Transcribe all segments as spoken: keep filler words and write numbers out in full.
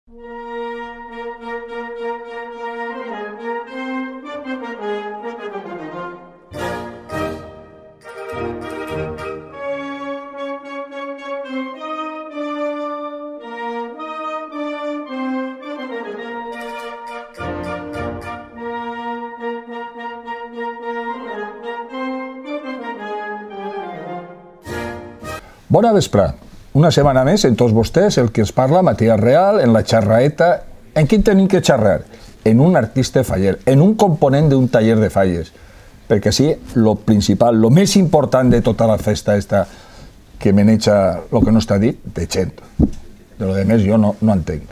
Bona vesprada. Una setmana més en tots vostès el que ens parla Matías Real en la xarraeta. En qui tenim que xarrar? En un artista faller, en un component d'un taller de falles. Perquè sí, lo principal, lo més important de tota la festa esta que maneja el que no està dit, de gent. De lo de més jo no, no entenc.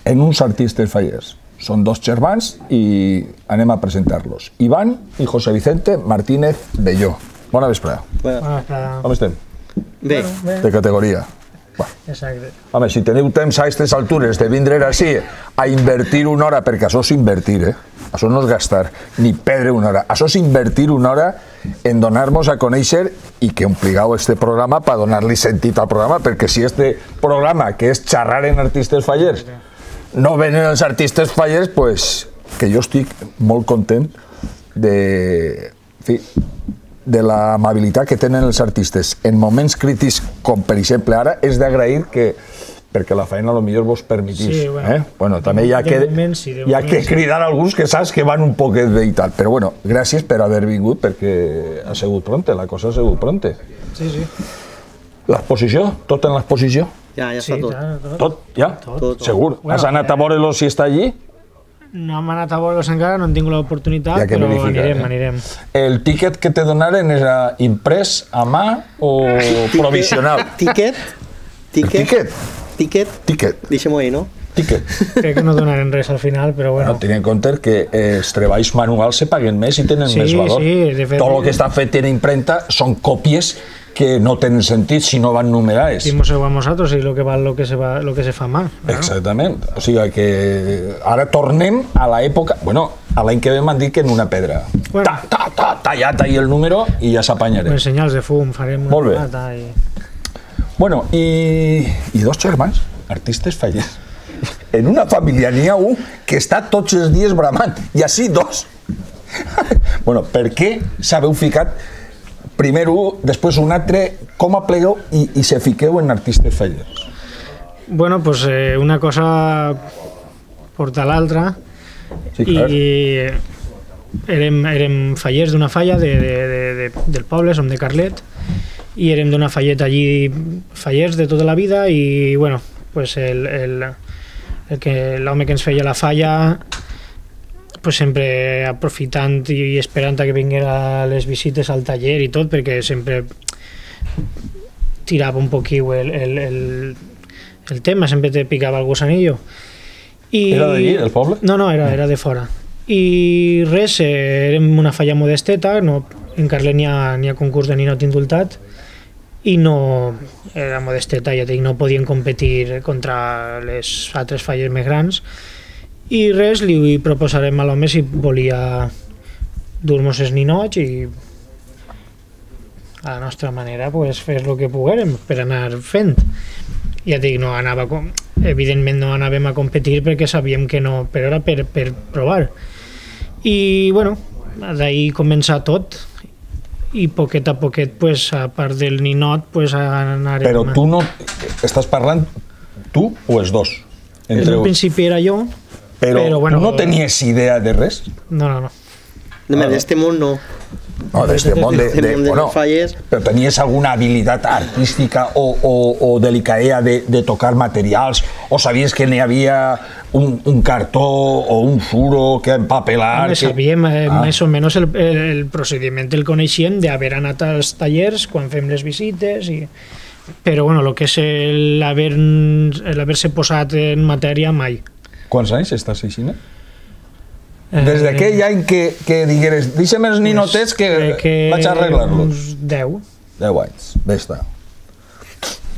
En uns artistes fallers. Són dos germans i anem a presentar-los. Iván i José Vicente Martínez Belló. Bona vesprada. Bona vesprada. Com estem? Bé. De categoria. Exacte. Home, si teniu temps a aquestes altures de vindre així a invertir una hora, perquè això és invertir, eh? Això no és gastar, ni perdre una hora. Això és invertir una hora en donar-nos a conèixer i que ompligueu este programa per donar-li sentit al programa, perquè si este programa, que és xerrar en artistes fallers, no venen els artistes fallers, pues, que jo estic molt content de... En fi, de l'amabilitat que tenen els artistes en moments crítics, com per exemple ara, és d'agrair que, perquè la feina a lo millor vos permetís. Sí, bueno, eh? Bueno, també hi ha que, moment, sí, hi ha que cridar a alguns que saps que van un poquet bé i tal, però bueno, gràcies per haver vingut, perquè ha sigut pronte, la cosa ha sigut pronte. Sí, sí. L'exposició? Tot en l'exposició? Ja, ja està Sí, tot. ja, tot. Tot? Ja? Tot. Tot. Segur? Bueno, Has anat a veure-lo si està allí? No hem anat a veure-los encara, no hem tingut l'oportunitat, Hi ha que però verificar, anirem, eh? anirem. El tíquet que te donaren era imprès a mà o provisional? Tiquet? Tiquet? Tiquet? Tiquet? Tiquet. Deixem-ho ahí, no? Tiquet. Crec que no donaren res al final, però bueno. No, tenint en compte que eh, els treballs manuals se paguen més i tenen Sí, més valor. sí, de fet- Tot el que està fet en imprenta són còpies que no tenen sentit si no van numerades. Dimos-ho a nosaltres i lo que val lo que se, va, lo que se fa mal. Claro. Exactament. O sigui que ara tornem a l'època... Bueno, a l'any que ve m'han dit que en una pedra. Bueno. Ta, ta, ta, tallat ahí el número i ja s'apanyarem. Amb senyals de fum, farem una Molt bé. plata i... Bueno, i, i dos germans, artistes fallers. En una família n'hi ha un que està tots els dies bramant, i així dos. Bueno, per què s'haveu ficat primer un, després un altre, com aplegueu i, i se fiqueu en artistes fallers? Bueno, pues eh, una cosa porta l'altra Sí, clar. i érem, érem fallers d'una falla de, de, de, de, del poble, som de Carlet, i érem d'una falleta allí, fallers de tota la vida, i bueno, pues el, el, el que l'home que ens feia la falla, pues sempre aprofitant i esperant a que vinguera les visites al taller i tot, perquè sempre tirava un poquiu el, el, el, el tema, sempre te picava el gusanillo. I... Era d'allí, del poble? No, no, era, era de fora. I res, eh, érem una falla modesteta, no, en Carlet n'hi ha, n'hi ha concurs de ninot indultat, i no, era modesteta, ja dic, no podien competir contra les altres falles més grans, i res, li proposarem a l'home si volia dur-nos els ninots i a la nostra manera pues, fer el que poguérem per anar fent. Ja dic, no anava, evidentment no anàvem a competir perquè sabíem que no, però era per, per provar. I bueno, d'ahir començar tot i poquet a poquet, pues, a part del ninot, pues, anarem... Però tu no... Estàs parlant tu o els dos? En un principi era jo, Però, però bueno, tu no tenies idea de res? No, no, no. No, ah, d'este món no. No, d'este món de, de, de, de bueno, falles. però tenies alguna habilitat artística o, o, o delicadea de, de tocar materials, o sabies que n'hi havia un, un cartó o un suro que empapelar? Home, que... sabíem eh, ah. més o menys el, el, el procediment el coneixíem d'haver anat als tallers quan fem les visites i... però bueno, el que és l'haver-se posat en matèria mai. Quants anys estàs així? Des d'aquell any que, que digueres deixa'm els ninotets que, que vaig a arreglar-los. Uns deu. Deu anys, bé està.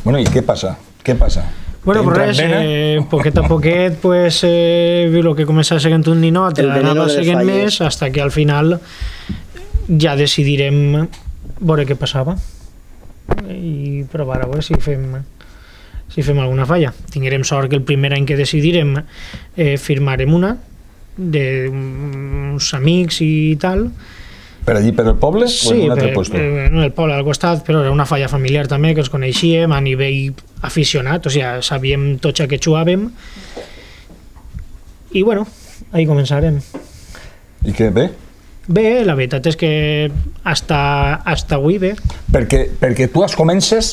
Bueno, i què passa? Què passa? Bueno, però res, eh, poquet a poquet, pues, eh, el que començava seguint un ninot, anava seguint més, hasta que al final ja decidirem veure què passava i provar a veure si fem si fem alguna falla. Tinguérem sort que el primer any que decidirem eh, firmarem una d'uns amics i tal. Per allí, per el poble? Sí, o en un altre per, puesto? eh, en el poble al costat, però era una falla familiar també, que ens coneixíem a nivell aficionat, o sigui, sabíem tots a què jugàvem. I bueno, ahí començarem. I què, bé? Bé, la veritat és que hasta, hasta avui bé. Perquè, perquè tu es comences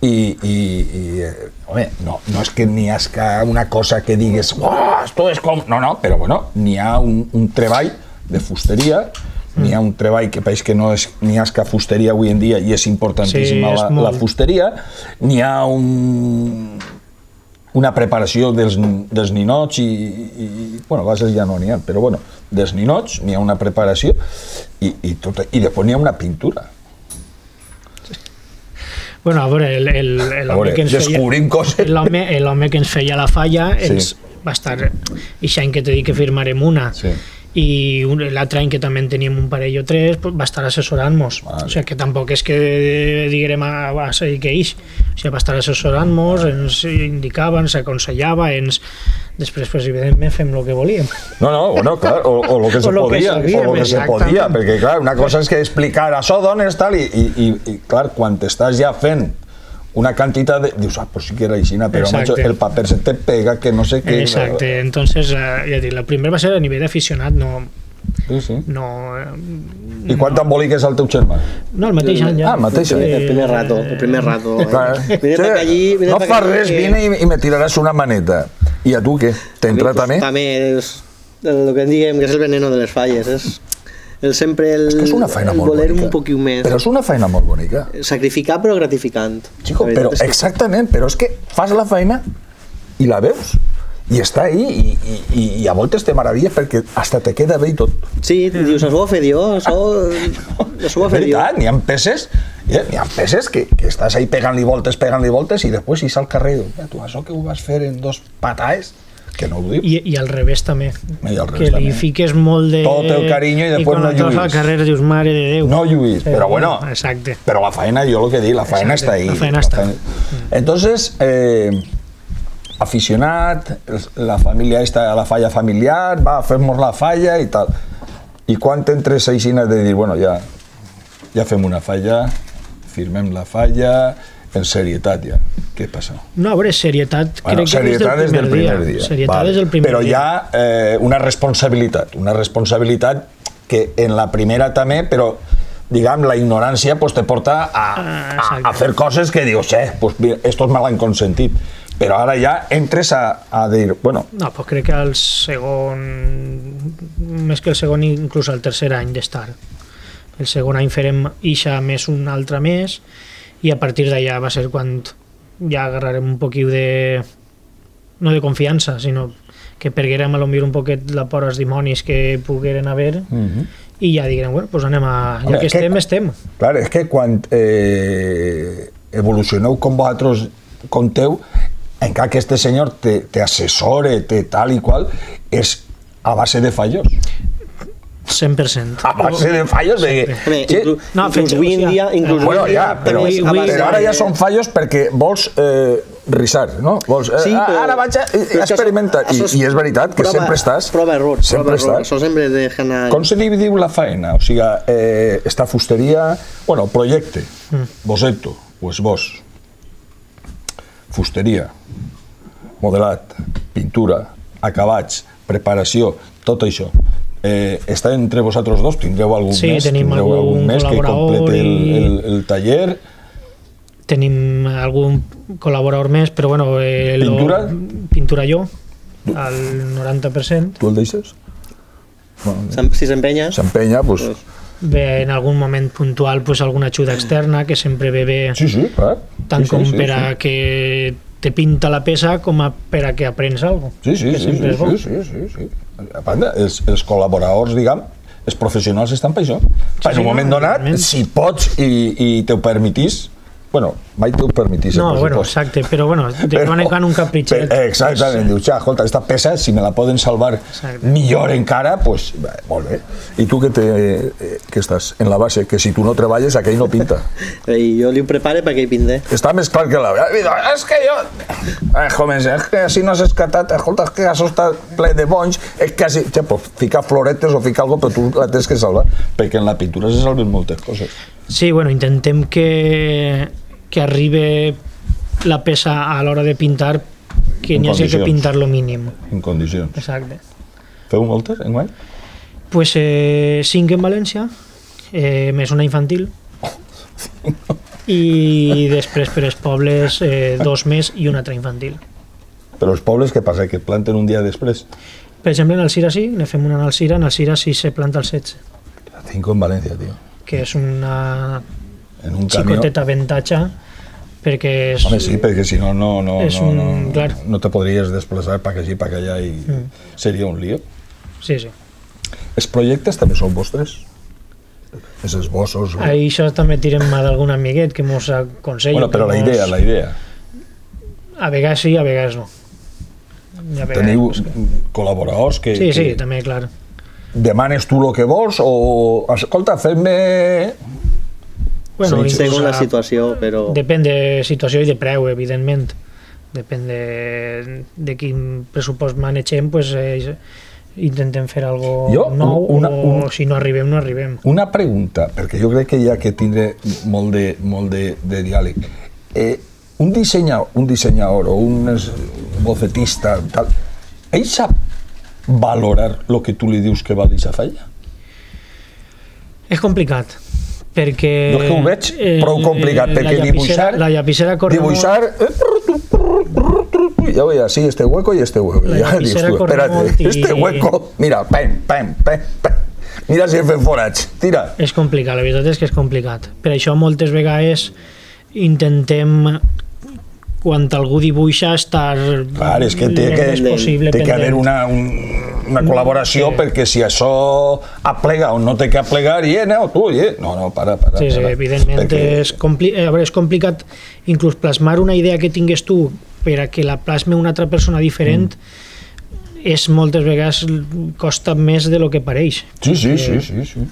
i, i, i eh, home, no, no és que n'hi ha una cosa que digues oh, esto es com... No, no, però bueno, n'hi ha un, un treball de fusteria, mm. n'hi ha un treball que pareix que no és n'hi ha que fusteria avui en dia i és importantíssima sí, és la, molt... la fusteria, n'hi ha un... una preparació dels, dels ninots i, i, bueno, a vegades ja no n'hi ha, però bueno, dels ninots n'hi ha una preparació i, i, tot, i després n'hi ha una pintura. Bueno, a veure, el, el, el home que ens descobrim feia, coses. L'home, l'home que ens feia la falla ens Sí. va estar, ix any que t'he dit que firmarem una, Sí. i un, l'altre any que també en teníem un parell o tres, pues, va estar assessorant-nos. Vale. O sigui, que tampoc és que diguérem a, a seguir que ix. O sigui, va estar assessorant-nos, ens indicava, ens aconsellava, ens... Després, pues, evidentment, fem el que volíem. No, no, bueno, clar, o, o lo que se O lo que podia, sabíem, o lo que se exactament. podia, perquè, clar, una cosa és que explicar això d'on és tal, i, i, i, i clar, quan t'estàs ja fent una quantitat de... Dius, ah, pues sí que era aixina, però macho, el paper se te pega, que no sé què... Exacte, entonces, eh, ja dic, la primera va ser a nivell d'aficionat, no... Sí, sí. no eh, I quant embolic és el teu germà? no, el mateix any ja. Ah, el mateix any. El primer rato, el primer rato. Clar, Vine sí, pa allí, vine no pa fas allí, res, que- vine i, i me tiraràs una maneta. I a tu què? T'entra Pues, també? també és el que en diguem que és el veneno de les falles. És el sempre el, És que és una feina el molt voler bonica. un poquil més. Però és una feina molt bonica. Sacrificar però gratificant. Chico, La veritat però és que- exactament, però és que fas la feina i la veus. I està ahí, i, i, i, i a voltes te meravilles perquè hasta te queda bé i tot. Sí, dius, això ho va fer jo, això, això ho És va fer jo. veritat, n'hi ha peces, eh, n'hi ha peces que, que estàs ahí pegant-li voltes, pegant-li voltes, i després ix al carrer i dius, tu, això que ho vas fer en dos pataes, que no ho dius. I, i al revés també, I al revés que li també. fiques molt de... Tot el carinyo i després quan no et vas lluís. al carrer dius, mare de Déu. No lluís, Sí, però bueno, exacte. però la faena, jo el que dic, la faena Exacte, està ahí. la feina està. Entonces, eh, aficionat, la família està a la falla familiar, va, fem-nos la falla i tal. I quan t'entres aixina de dir, bueno, ja, ja fem una falla, firmem la falla, en serietat ja. Què passa? No, a veure, serietat, Bueno, crec que serietat des del primer, dia. dia. Serietat Vale. des del primer Però dia. hi ha eh, una responsabilitat, una responsabilitat que en la primera també, però diguem, la ignorància pues, te porta a, Ah, a, exacte. a fer coses que dius, eh, pues, mira, estos me l'han consentit. Però ara ja entres a, a dir, bueno, No, pues crec que al segon, més que el segon, inclús al tercer any d'estar. El segon any farem ixa més un altre més, i a partir d'allà va ser quan ja agarrarem un poquiu de... no de confiança, sinó que perguérem a lo millor un poquet la por als dimonis que pogueren haver, uh-huh. i ja diguem, bueno, pues anem a... Home, ja que és que- estem, estem. clar, és que quan eh, evolucioneu com vosaltres conteu, encara que este senyor te, te assessore, te tal i qual, és a base de fallos. cent per cent. A base de fallos de... Home, Sí. inclús, No, inclús fet- avui en o sigui, dia... Inclús Bueno, avui en dia ja, però, també és a avui- base però ara de- ja són fallos perquè vols eh, risar, no? Vols, eh, Sí, però- ara vaig a però és que experimentar. I, això és I és veritat que prova- sempre estàs... Prova error, sempre prova error. estàs. Això sempre deja anar... Com se li diu la feina? O sigui, eh, esta fusteria... Bueno, projecte, boceto, o esbós, fusteria, modelat, pintura, acabats, preparació, tot això. Eh, està entre vosaltres dos? Tindreu algun Sí, més? tenim Tindreu algun més que col·laborador complete el, i- el, el taller? Tenim algun col·laborador més, però bueno... Eh, lo- Pintura? Pintura jo, al noranta per cent. Tu el deixes? Bueno, S'em- Si s'empenya... s'empenya, doncs... Pues- Bé, en algun moment puntual pues, alguna ajuda externa, que sempre ve bé, Sí, sí, clar. tant sí, com sí, sí, per a sí. que te pinta la peça com a per a que aprens alguna cosa. Sí, sí, que sí, sempre sí, és bo. sí, sí, sí, sí. A banda, els, els col·laboradors, diguem, els professionals estan per això. Sí, en sí, un moment no, donat, evidentment. si pots i, i te ho permetís, bueno, mai t'ho permetís el No, bueno, pressupost. exacte, però bueno, te van en un capritxet. Però, exactament, dius, ja, escolta, esta peça, si me la poden salvar Exacte. millor encara, pues, bé, molt bé. I tu que, te, eh, que estàs en la base, que si tu no treballes, aquell no pinta. I jo li ho prepare perquè hi pinde. Està més clar que la... És que jo... Eh, joves, és que si no has escatat, escolta, és que això està ple de bonys, és que si... Ja, pues, ficar floretes o ficar alguna cosa, però tu la tens que salvar, perquè en la pintura se salven moltes coses. Sí, bueno, intentem que, que arribe la peça a l'hora de pintar, que n'hi hagi que pintar lo mínim. En condicions. Exacte. Feu moltes, enguany? Pues eh, cinc en València, eh, més una infantil, i després per als pobles eh, dos més i una altra infantil. Però els pobles, què passa? Que planten un dia després? Per exemple, en Alcira sí, ne fem una en Alcira, en Alcira sí se planta el setze, Cinco en València, tio. que és una En un camió... xicoteta avantatge, perquè és... Home, sí, perquè si no, no, no, és no, un- no, clar. no te podries desplaçar pa aquí, pa allà i Mm. seria un lío. Sí, sí. Els projectes també són vostres? Els esbossos... o- Ahí això també tirem mà d'algun amiguet que mos aconsella. Bueno, però la que mos- idea, la idea. A vegades sí, a vegades no. I a vegades- Teniu col·laboradors que, Sí, sí, que també, clar. demanes tu el que vols o... Escolta, fem-me... Bueno, Sí, inclús Segons la a- situació, però... Depèn de situació i de preu, evidentment. Depèn de, de quin pressupost manegem, pues, eh, intentem fer algo Jo, nou, una- o un- si no arribem, no arribem. Una pregunta, perquè jo crec que hi ha que tindre molt de, molt de, de diàleg. Eh, un, dissenyador, un dissenyador o un es- bocetista, tal, ell sap valorar el que tu li dius que val aquesta falla? És complicat, perquè... Jo és que ho veig prou complicat, perquè la dibuixar... La llapissera corre Dibuixar... Ja veia, sí, este hueco y este hueco. La Ja dius lapicera tu, corre espérate, molt i- este hueco... Mira, pam, pam, pam, pam. Mira si fem forats, tira. És complicat, la veritat és que és complicat. Per això moltes vegades intentem, quan algú dibuixa, estar Clar, és que té el que, més possible té que haver pendent. una, un, una col·laboració Sí. perquè si això aplega o no té que aplegar, i eh, no, tu, eh, no, no, para, para. Sí, sí, para. evidentment Perquè- és, compli a veure, és complicat inclús plasmar una idea que tingues tu per a que la plasme una altra persona diferent, mm. és moltes vegades costa més de lo que pareix. Sí, sí, sí, sí, sí.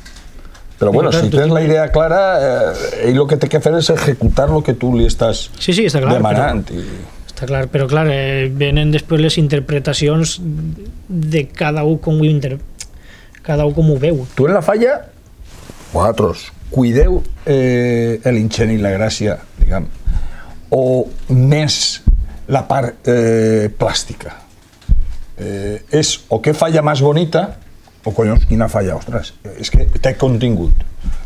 Però bueno, clar, si tu tens la tienes- idea clara, eh, ell el que té que fer és executar el que tu li estàs Sí, sí, està clar, demanant. però, I... està clar, però clar, eh, venen després les interpretacions de cada un com ho, inter... cada un com ho veu. Tu en la falla, vosaltres, cuideu eh, l'ingeni i la gràcia, diguem, o més la part eh, plàstica? Eh, és o què falla més bonita o collons, quina falla, ostres, és que té contingut.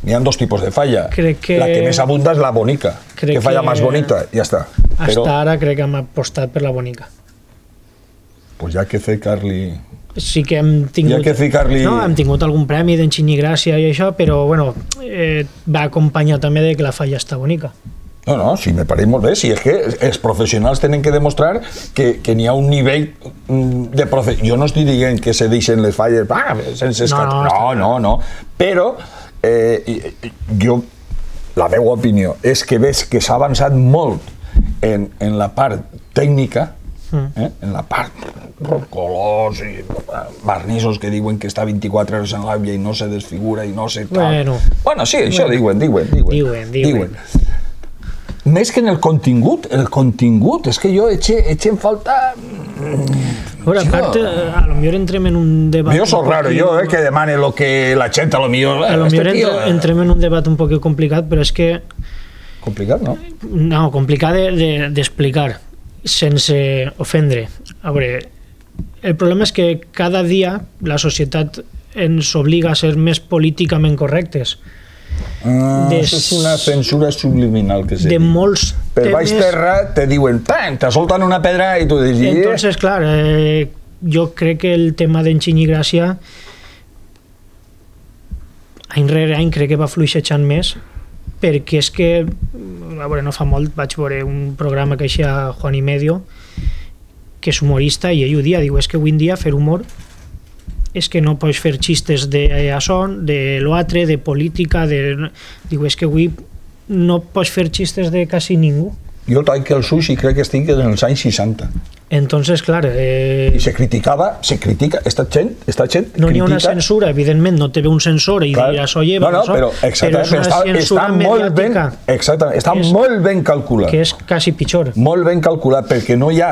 N'hi ha dos tipus de falla. Crec que- La que més abunda és la bonica. Crec Que falla que- més bonita, ja està. Però... Hasta ara crec que hem apostat per la bonica. pues ja que ficar-li... Sí que hem tingut... Hi ha que ficar-li- No, hem tingut algun premi d'Enginyi Gràcia i això, però bueno, eh, va acompanyar també de que la falla està bonica. No, no, sí, me pareix molt bé. Si és que els professionals tenen que demostrar que, que n'hi ha un nivell mm, de profe... Jo no estic dient que se deixen les falles ah, sense escat... No, no, No, no, no. Però eh, i- i- jo, la meva opinió és que veig que s'ha avançat molt en, en la part tècnica, eh? En la part colors i barnissos que diuen que està vint-i-quatre hores en l'àvia i no se desfigura i no se tal. Bueno. bueno sí, això Bueno. diuen, diuen, diuen. Diuen, diuen. Més que en el contingut, el contingut, és que jo eche, eche en falta... A veure, a part, eh, a lo millor entrem en un debat... Jo soc un raro, poquillo- jo, eh, que demane lo que la gent a lo millor... A lo este millor tio, entre, entrem en un debat un poc complicat, però és que... Complicat, no? No, complicat d'explicar, de, de, sense ofendre. A veure, el problema és que cada dia la societat ens obliga a ser més políticament correctes. Ah, Des- això és una censura subliminal que se De diu. molts Per baix temes... terra te diuen, pam, te solten una pedra i tu dius... "Eh". Entonces, clar, eh, jo crec que el tema d'Enginyi Gràcia any rere any crec que va fluixejant més, perquè és que, a veure, no fa molt vaig veure un programa queeixia Juan y Medio, que és humorista, i ell ho dia, diu, és que avui en dia fer humor és que no pots fer xistes de això, de l'altre, de política, de... diu, és que avui no pots fer xistes de quasi ningú. Jo taig el sushi crec que estic en els anys seixanta. Entonces, clar... Eh... I se criticava, se critica, esta gent, esta gent no critica... No hi ha una censura, evidentment, no te ve un censor i clar, diràs, oye, no, no, però, però és una està, censura està molt ben, exactament, està és, molt ben calculat. Que és quasi pitjor. Molt ben calculat, perquè no hi ha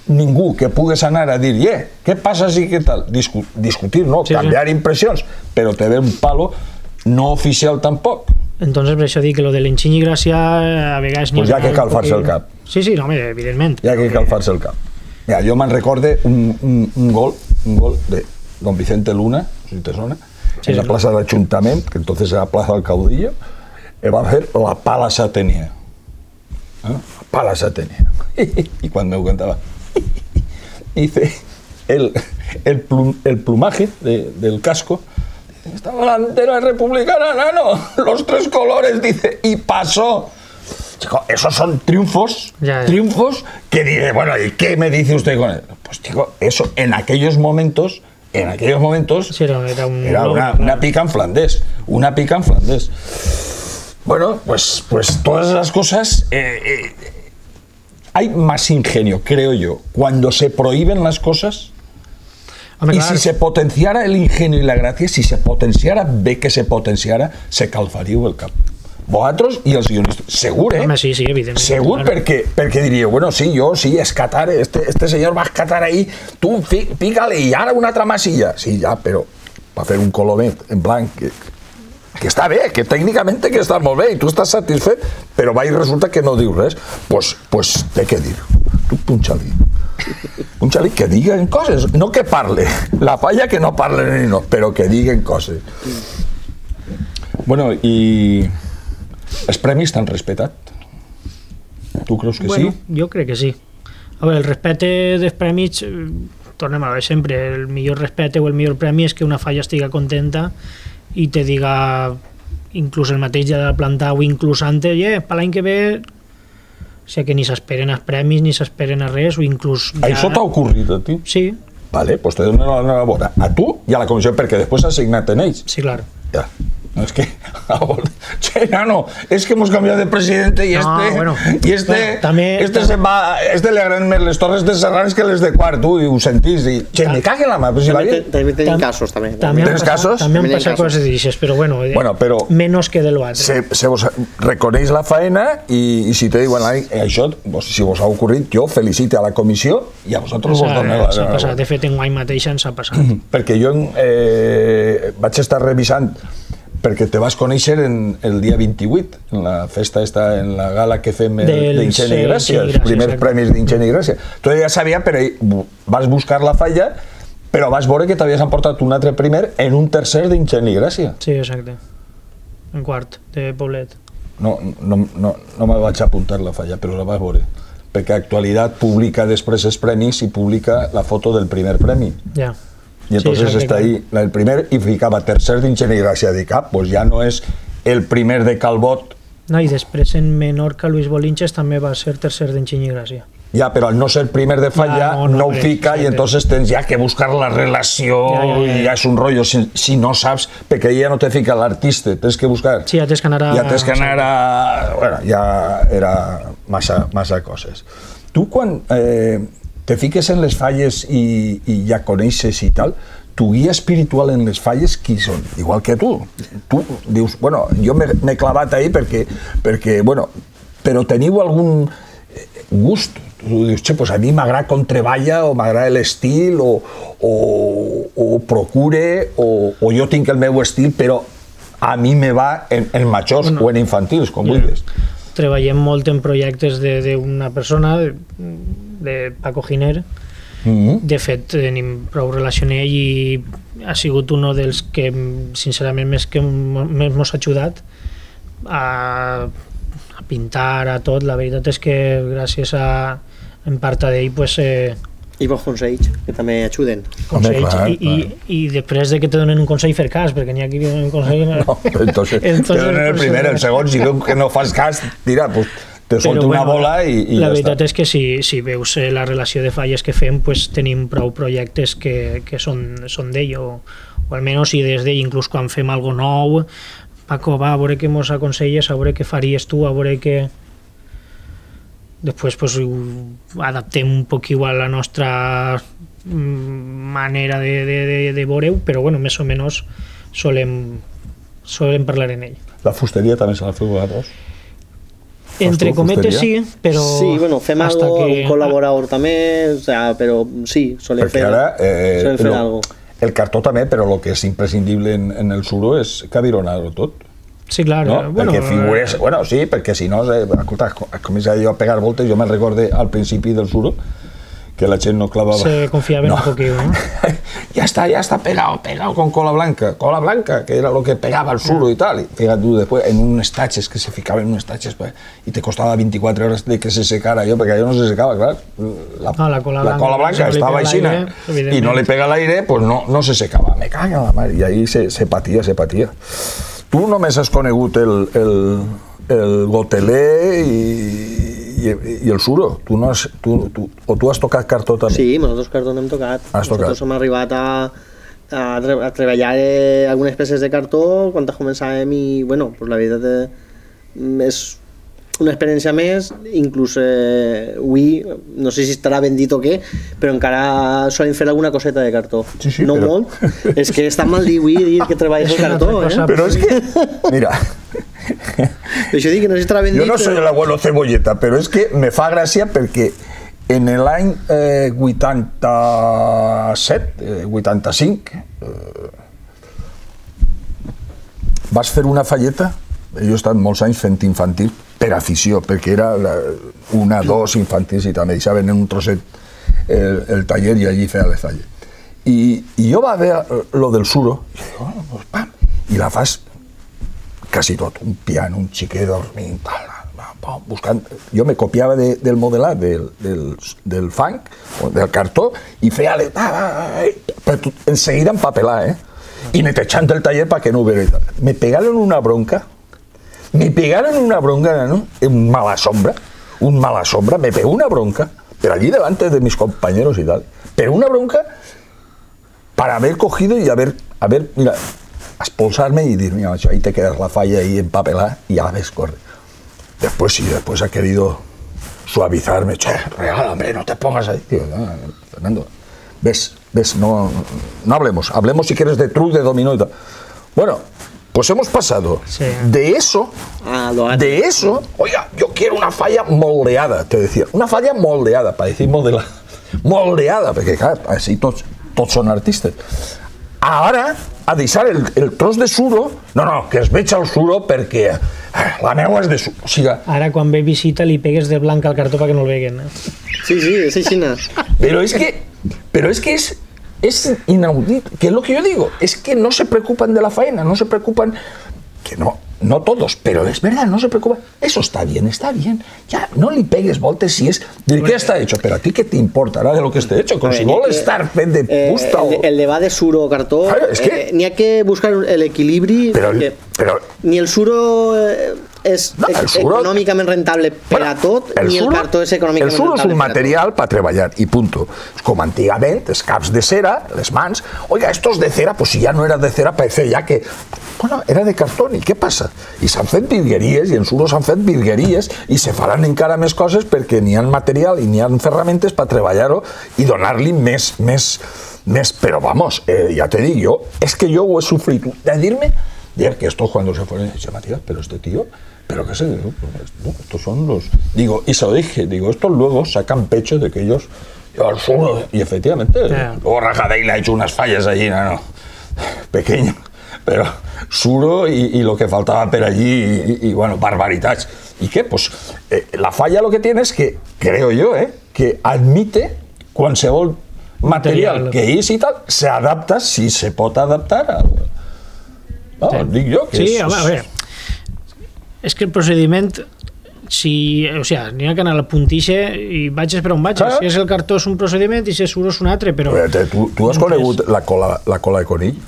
ningú que pugues anar a dir, eh, què passa si què tal? Discu discutir, no, sí, canviar sí. impressions, però te ve un palo no oficial tampoc. Entonces, per això dic que lo de l'enxiny i gràcia a vegades... Pues ja que calfar-se el cap. Sí, sí, no, evidentment. Ja que calfar-se el cap. Mira, jo me'n recorde un, un, un gol, un gol de don Vicente Luna, si te sona, sí, en la plaça de l'Ajuntament, que entonces era Plaza del Caudillo, va a fer la pala Atenea. ¿Eh? La pala Atenea. Y cuando me contaba, dice, el, el, plum, el plumaje de, del casco, esta bandera republicana, nano, los tres colores, dice, y pasó. Chico, esos son triunfos, ya, ya. triunfos que dice, bueno, ¿y qué me dice usted con él? Pues chico, eso en aquellos momentos, en aquellos momentos, sí, era, era, un era una, una pica en flandés, una pica en flandés. Bueno, pues, pues todas esas cosas, eh, eh, hay más ingenio, creo yo, cuando se prohíben las cosas. Hombre, y claro. Si se potenciara el ingenio y la gracia, si se potenciara, ve que se potenciara, se calfaríeu el cap. Vosaltres i els guionistes, segur, eh? Home, sí, sí, evidentment. Segur, claro. perquè, perquè diríeu, bueno, sí, jo, sí, escatar, este, este senyor va escatar ahí, tu, pícale, i ara una altra masilla. Sí, ja, però va fer un colomet en blanc, que, que està bé, que tècnicament que està molt bé, i tu estàs satisfet, però va i resulta que no diu res. Pues, pues té que dir. Tu punxa-li. Punxa-li que diguen coses, no que parle. La falla que no parlen ni no, però que diguen coses. Bueno, i... els premis t'han respetat? Tu creus que bueno, sí? Jo crec que sí. A veure, el respecte dels premis, tornem a veure sempre, el millor respecte o el millor premi és que una falla estiga contenta i te diga, inclús el mateix ja de la planta o inclús antes, eh, per l'any que ve, o sigui que ni s'esperen els premis ni s'esperen a res, o inclús... Ja... Això t'ha ocorrit a ti? Sí. Vale, pues te dono l'enhorabona a tu i a la comissió, perquè després has signat en ells. Sí, clar. Ja. No, es que, che, nano, es que hemos cambiado de presidente y este, no, bueno, y este, bueno, també, este també, se va, este le agraden més les torres de Serrans que les de Quart, tu, i ho sentís, i, che, me cague la mà, però si va bien. També tenim casos, també. També Tens casos? També han passat coses d'aixes, però bueno, bueno però menos que de l'altre. Se, se vos reconeix la faena i, i si te diuen, això, si vos ha ocorrit, jo felicite a la comissió i a vosaltres vos dono la... S'ha passat, de fet, en guany mateix ens ha passat. Perquè jo eh, vaig estar revisant perquè te vas conèixer en el dia vint-i-vuit, en la festa esta, en la gala que fem d'Ingeni i Gràcia, els primers premis d'Ingeni i Gràcia. Tu ja sabia, però vas buscar la falla, però vas veure que t'havies emportat un altre primer en un tercer d'Ingeni i Gràcia. Sí, exacte. En quart, de Poblet. No, no, no, no me vaig apuntar la falla, però la vas veure. Perquè Actualitat publica després els premis i publica la foto del primer premi. Ja. Y entonces sí, está ahí el primer y ficaba tercer d'Ingeni i Gràcia. Dic, ah, pues ja no és el primer de Calbot. No, i després en Menorca, Luis Bolinches també va ser tercer d'Ingeni i Gràcia. Ja, però al no ser primer de falla, ja, no, no, no ho fica sí, i entonces tens ja que buscar la relació ja, ja, ja. i ja és un rotllo. Si, si no saps, perquè ja no te fica l'artista, tens que buscar. Sí, ja tens que anar a... Ja tens que anar a... Bueno, ja era massa, massa coses. Tu quan... Eh, te fiques en les falles i, i ja coneixes i tal, tu guia espiritual en les falles qui són? Igual que tu. Tu dius, bueno, jo m'he clavat ahí perquè, perquè, bueno, però teniu algun gust? Tu dius, che, pues a mi m'agrada com treballa, o m'agrada l'estil, o, o, o procure, o, o jo tinc el meu estil, però a mi me va en, en majors bueno, o en infantils, com yeah. vulguis. Treballem molt en projectes d'una persona, de, de Paco Giner. Mm-hmm. De fet, tenim prou relació amb ell i ha sigut un dels que, sincerament, més que més mos ha ajudat a, a pintar, a tot. La veritat és que gràcies a, en part a ell, pues, eh, i bons consells, que també ajuden. Consells, clar, i, clar. I, i després de que te donen un consell fer cas, perquè n'hi ha qui donen un consell... No, entonces, entonces te donen el primer, el segon, si veus que no fas cas, tira, pues, te solta una bueno, bola i, i la ja veritat està. És que si, si veus la relació de falles que fem, pues, tenim prou projectes que, que són, són d'ell, o, o almenys si des d'ell, inclús quan fem algo nou, Paco, va, a veure què mos aconselles, a veure què faries tu, a veure què... Després pues, adaptem un poc igual la nostra manera de, de, de, de veure-ho, però bueno, més o menys solem, solem parlar en ell. La fusteria també se la feu vosaltres? Entre cometes sí, però... Sí, bueno, fem algo, que... un col·laborador també, o sea, però sí, solem Perquè fer, ara, eh, solem fer lo, algo. El cartó també, però el que és imprescindible en, en el suro és cavironar-ho tot. Sí, clar. No? Bueno, perquè figures... Bueno, sí, perquè si no... Eh, escolta, comença jo a pegar voltes, jo me'n recorde al principi del suro, que la gent no clavava... Se confiava no. un poquillo, ¿no? ya está, ya está pegado, pegado con cola blanca, cola blanca, que era lo que pegaba el suro y tal. Y fíjate tú, después, en unos taches, que se ficaba en unos taches, pues, y te costaba veinticuatro horas de que se secara yo, porque yo no se secaba, claro. La, no, la cola la blanca, cola blanca estaba ahí y no le pega el aire, pues no, no se secaba. Me caga la madre. Y ahí se, se patía, se patía. Tu només has conegut el, el, el gotelé i, i, i el suro. Tu no has, tu, tu, o tu has tocat cartó també? Sí, nosaltres cartó n'hem tocat. Has nosaltres tocat. hem arribat a, a, a treballar eh, algunes peces de cartó quan començàvem i, bueno, pues la veritat eh, és una experiència més, inclús eh, avui, no sé si estarà ben dit o què, però encara solem fer alguna coseta de cartó. Sí, sí, no però... molt, és que està mal dir avui dir que treballes el cartó, eh? Però és que, mira... Això dic que no sé si estarà ben jo dit, no soy però... el abuelo cebolleta, però és que me fa gràcia perquè en l'any eh, vuitanta-set, eh, vuitanta-cinc, eh, vas fer una falleta. Jo he estat molts anys fent infantil per afició, perquè era la, una, dos infantils i també deixaven en un trosset el, el taller i allí feia les talles. I, i jo va veure lo del suro, i dic, oh, pues, pam, i la fas quasi tot, un piano, un xiquet dormint, tal, buscant... Jo me copiava de, del modelat, del, del, del fang, del cartó, i feia... Però en seguida empapelar, eh? I netejant el taller perquè no ho veure. Me pegaron una bronca, me pegaron una bronca, ¿no? Un mala sombra, un mala sombra, me pegó una bronca, pero allí delante de mis compañeros y tal, pero una bronca para haber cogido y haber, haber mira, expulsarme y decir, mira, macho, ahí te quedas la falla ahí empapelada y a la vez corre. Después sí, después ha querido suavizarme, che, regálame, no te pongas ahí, tío, no, Fernando, ves, ves, no, no hablemos, hablemos si quieres de truc, de dominó y tal. Bueno, pues hemos pasado sí. de eso, de eso, oiga, yo quiero una falla moldeada, te decía, una falla moldeada, para decir modelada, moldeada, porque claro, así todos, todos son artistas. Ara, a deixar el, el tros de suro, no, no, que es veig el suro perquè la meua és de suro. O sigui, ara, quan ve visita, li pegues de blanc al cartó perquè no el veguen. Eh? Sí, sí, és així. Pero es que, pero es que es, es inaudito, que es lo que yo digo, es que no se preocupan de la faena, no se preocupan, que no, no todos, pero es verdad, no se preocupan. Eso está bien, está bien. Ya, no le pegues voltes si es... ¿De bueno, qué está hecho? Pero a ti qué te importará de lo que esté hecho. Con si vol estar fet de fusta eh, o... El debat de suro o cartó, claro, es que... eh, n'hi ha que buscar el equilibri, però, però... ni el suro eh, és no, el suro... econòmicament rentable per bueno, a tot, el ni suro, el cartó és econòmicament rentable. El suro és un material per treballar, i punto. Com antigament, els caps de cera, les mans, oiga, estos de cera, pues si ya no era de cera, parece ya que... Bueno, era de cartón, i què passa? I s'han fet virgueries, i en suro s'han fet virgueries, i se faran encara més coses perquè n'hi ha material i n'hi ha ferramentes per treballar-ho i donar-li més, més, més... Però vamos, eh, ja te dic jo, és que jo ho he sofrit. De dir-me, dir que esto cuando se fue, dice Matías, pero este tío, pero qué sé, no, estos son los... Digo, y se lo dije, digo, estos luego sacan pecho de que ellos... Yo al suro, y efectivamente, yeah. Luego Rajadei le ha hecho unas fallas allí, no, no, pequeño. Pero suro y, y lo que faltaba por allí y, y bueno, barbaridades. ¿Y qué? Pues eh, la falla lo que tiene es que, creo yo, eh, que admite qualsevol material, material que és i tal, se adapta, si se pot adaptar a... No, sí. Dic jo que sí, és... Home, a veure, és que el procediment, si, o sigui, n'hi ha que anar a la puntixa i vagis per on vagis. Ah. Si és el cartó és un procediment i si és suro és un altre, però... Veure, tu, tu has conegut la cola, la cola de conill?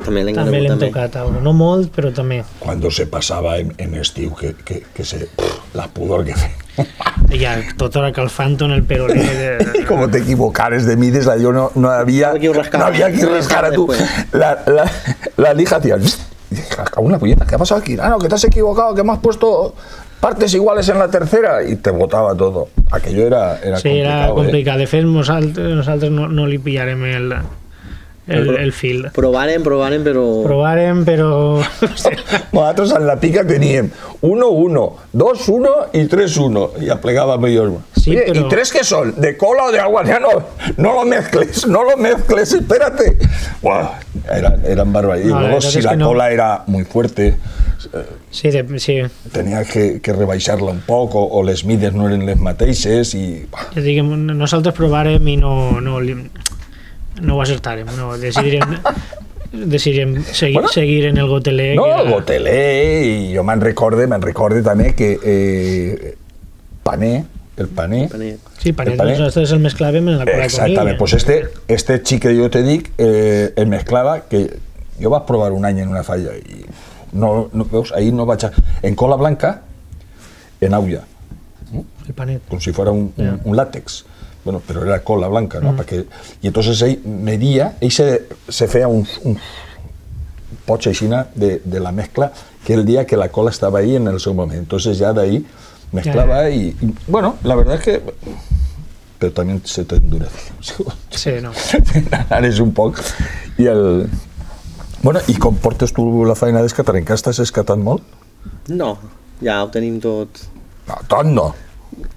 També l'hem tocat, algo. No molt, però també. Cuando se pasaba en, en estiu, que, que, que se... Pff, la pudor que fe. Ya, tota hora calfant en el perolé. De... Como te equivocares de mides, yo no, no había... No, no había que rascar a tu. La, la, la lija hacía... cago en la puñeta, ¿qué ha pasado aquí? Ah, no, que te has equivocado, que me has puesto partes iguales en la tercera y te botava todo. Aquello era, era sí, complicado. era complicat. Eh? De fet, nosaltres, nosaltres no, no li pillarem el, el, el fil. Provarem, provarem, però... Provarem, però... Nosaltres en la pica teníem uno uno, dos uno y tres uno. Y aplegábamos ellos. Sí, Oye, pero... ¿y tres qué son? ¿De cola o de agua? Ya no, no lo mezcles, no lo mezcles, espérate. Wow, eran, eran barbaridades. No, y luego si es la que no. cola era muy fuerte, eh, Sí, de, sí. tenías que, que rebaixar-la un poc, o, o les mides no eren les mateixes i... Ja dic, nosaltres provarem i no, no, no ho acertarem. No, decidirem, decidirem seguir, Bueno, seguir en el gotelé. No, que el gotelé, i jo me'n recorde, me'n recorde també que eh, pané, el pané... Panet. Sí, panet, el panet. nosaltres el mesclàvem en la cola Exactament, pues este, este xic que jo te dic, eh, el mesclava, que jo vaig provar un any en una falla i no, no veus, ahí no vaig a... En cola blanca, en aulla, El panet. com si fuera un, Yeah. un, un látex. Bueno, pero era cola blanca, ¿no? Mm. Perquè, y entonces ell medía, ell se, se feia un, un poch aixina de, de la mezcla que el día que la cola estaba ahí en el seu moment. Entonces ya de ahí mezclaba Yeah. y, y, bueno, la verdad es que... Pero también se te endurece. Sí, no. Eres un poc. I el... Bueno, i com portes tu la feina d'escatar? Encara estàs escatant molt? No, ja ho tenim tot, No, tot no.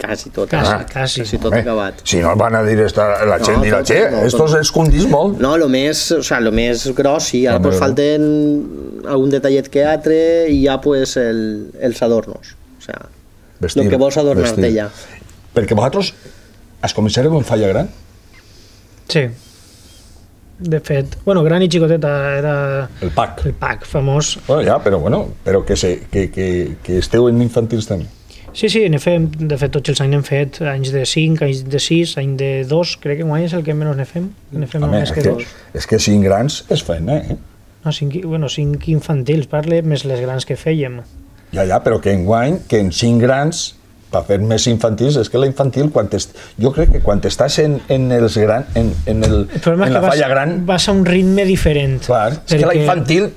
quasi tot. Quasi, eh? quasi. Quasi tot Home, acabat. si no van a dir esta, la gent No, dirà, tot, che, no, estos tot. escondís molt. No, lo més, o sea, lo més gros, sí, ara Home, pues no. falten algun detallet que altre i ja pues el, els adornos, o sea, Vestir, lo que vols adornar-te vestir. ja. Perquè vosaltres es començareu en falla gran? Sí. De fet, bueno, gran i xicoteta era El pack. el pack famós. Bueno, ja, però bueno, però que, se, que, que, que esteu en infantils també. Sí, sí, ne fem, de fet tots els anys n'hem fet, anys de cinc, anys de sis, any de dos, crec que guany és el que menys ne fem, ne fem Home, més és que que, dos. és que cinc grans és feina, eh? No, cinc, bueno, cinc infantils, parle, més les grans que fèiem. Ja, ja, però que en guany, que en cinc grans, per fer més infantils, és que la infantil, quan est... jo crec que quan estàs en, en els gran, en, en, el, El problema en és la que vas, falla gran, vas a un ritme diferent. clar, és que la infantil,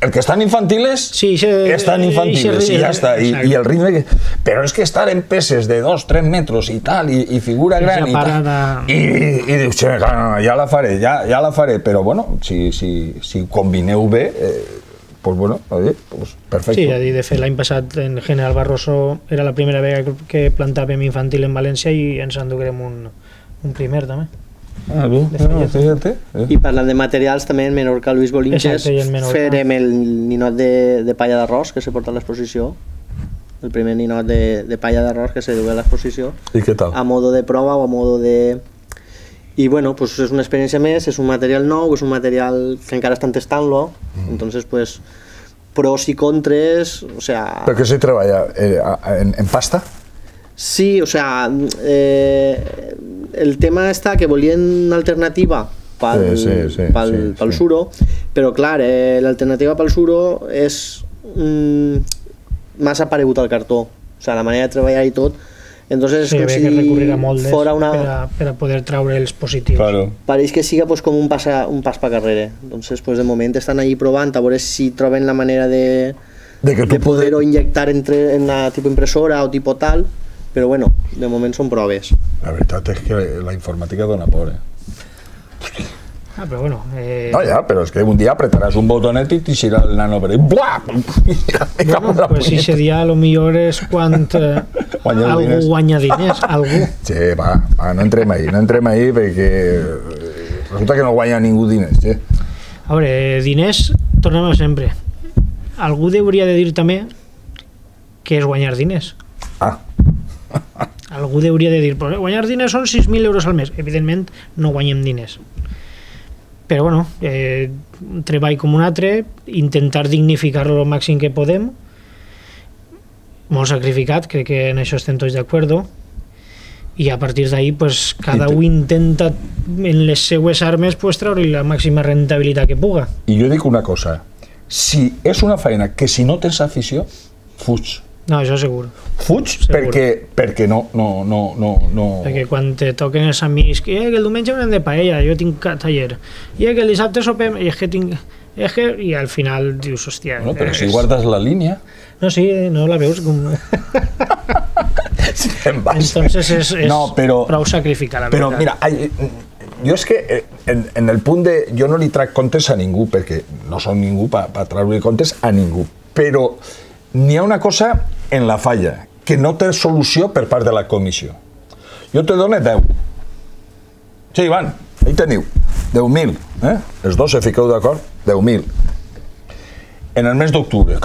el que estan infantiles, Sí, se- estan infantiles, ese- i ja està, i, exacte. i el ritme... Que... Però és que estar en peces de dos, tres metres i tal, i, i figura Esa gran i tal, parada- i, i dius, "Che, no, no, ja la faré, ja, ja la faré", però bueno, si, si, si combineu bé, eh, pues bueno, oye, pues perfecte. Sí, ja dic, de fet l'any passat en General Barroso era la primera vegada que- que plantàvem infantil en València i ens enduguem un, un primer també. Ah, bé, de bueno, Follet. fíjate. Eh. I parlant de materials, també en Menorca, Luis Bolinches, Exacte, i en Menorca. farem el ninot de, de palla d'arròs que se porta a l'exposició, el primer ninot de, de palla d'arròs que se du a l'exposició, I què tal? a modo de prova o a modo de... I bueno, pues és una experiència més, és un material nou, és un material que encara estan testant-lo, mm. entonces pues pros i contres, o sea... Però què se treballa? Eh, a- en, en pasta? Sí, o sea, eh, el tema està que volien alternativa pel, Sí, sí, sí, pel, sí, pel sí. suro, però clar, eh, l'alternativa pel suro és mm, massa paregut al cartó, o sea, la manera de treballar i tot, entonces Sí, és com havia que recurrir a si moldes fora una... per, a, per a poder traure els positius. Claro. Pareix que siga pues, com un, passa, un pas per carrere. Entonces, pues, de moment estan allí provant a veure si troben la manera de, De que tu de poder-ho poder... inyectar entre, en la tipo impressora o tipo tal, però bueno, de moment són proves. La veritat és que la informàtica dona por, eh? Ah, però bueno... Eh, No, ja, però és que un dia apretaràs un botonet i t'ixirà el nano per ahí. Buah! Me cago en bueno, la pues si punyeta. ese dia a lo millor és quan eh, Guanyar algú diners. guanya diners, algú. Sí, va, va, no entrem ahí, no entrem ahí perquè eh, resulta que no guanya ningú diners, sí. A veure, eh, diners, tornem a sempre. Algú hauria de dir també què és guanyar diners. Ah, Algú hauria de dir, pues, guanyar diners són sis mil euros al mes. Evidentment, no guanyem diners. Però, bueno, eh, un treball com un altre, intentar dignificar-lo el màxim que podem, molt sacrificat, crec que en això estem tots d'acord, i a partir d'ahí, pues, cada un intenta en les seues armes pues, treure la màxima rentabilitat que puga. i jo dic una cosa, si és una feina que si no tens afició, fuig. No, això segur. Fuig Segur. perquè, perquè no, no, no, no, no... Perquè quan te toquen els amics, que, eh, que el diumenge anem de paella, jo tinc ca- taller, i eh, que el dissabte sopem, i és que tinc... És que, i al final dius, hòstia... Bueno, però és... si guardes la línia... No, sí, no la veus com... Entonces és, és no, però, prou sacrificar, la però, veritat. Però, mira, jo és que en, en el punt de... Jo no li trac comptes a ningú, perquè no som ningú per pa, pa treure comptes a ningú, però n'hi ha una cosa en la falla, que no té solució per part de la comissió. Jo te dono deu. Sí, Ivan, ahí teniu. deu mil, eh? Els dos se fiqueu d'acord? deu mil. En el mes d'octubre,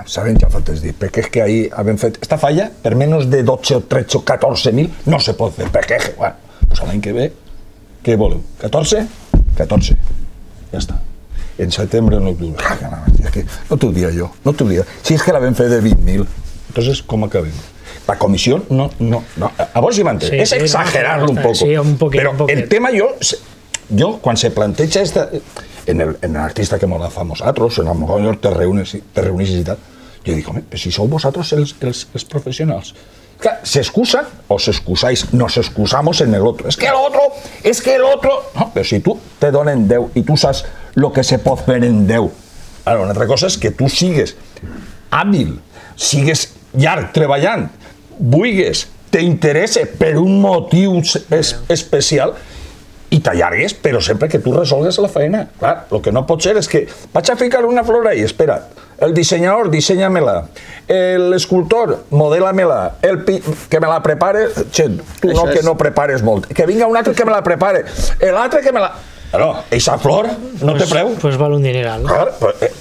sabem ja faltes dir, perquè és que ahir havem fet... Esta falla, per menys de dotze o tretze o catorze mil, no se pot fer, perquè, bueno, pues l'any que ve, què voleu? catorze? catorze. Ja està. En setembre o en octubre. No t'ho dia jo, no t'ho dia. Si és que l'havem fet de vint mil, entonces, com acabem? La comissió no... no, no. A vos hi m'entén. Sí, és sí, exagerar-lo no, un poc. Sí, un poquet, però un poquet. El tema jo... Jo, quan se planteja esta... En el, en el artista que molt fa nosaltres, en el millor te reunís, te reunís i tal, jo dic, home, si sou vosaltres els, els, els professionals. Clar, s'excusen o s'excusáis, nos excusamos en el otro. Es que el otro, es que el otro... No, però si tu te donen deu i tu saps lo que se pot fer en deu. Ara, una altra cosa és que tu sigues hàbil, sigues llarg treballant, vulgues, t'interessa per un motiu es, especial, i t'allargues, però sempre que tu resolgues la feina. Clar, el que no pot ser és que vaig a ficar una flor ahí, espera, el dissenyador, dissenya-me-la, l'escultor, modela-me-la, el pi... que me la prepare, che, tu no, que no prepares molt, que vinga un altre que me la prepare, l'altre que me la... Però, eixa flor no té preu. Pues val un dineral. Clar,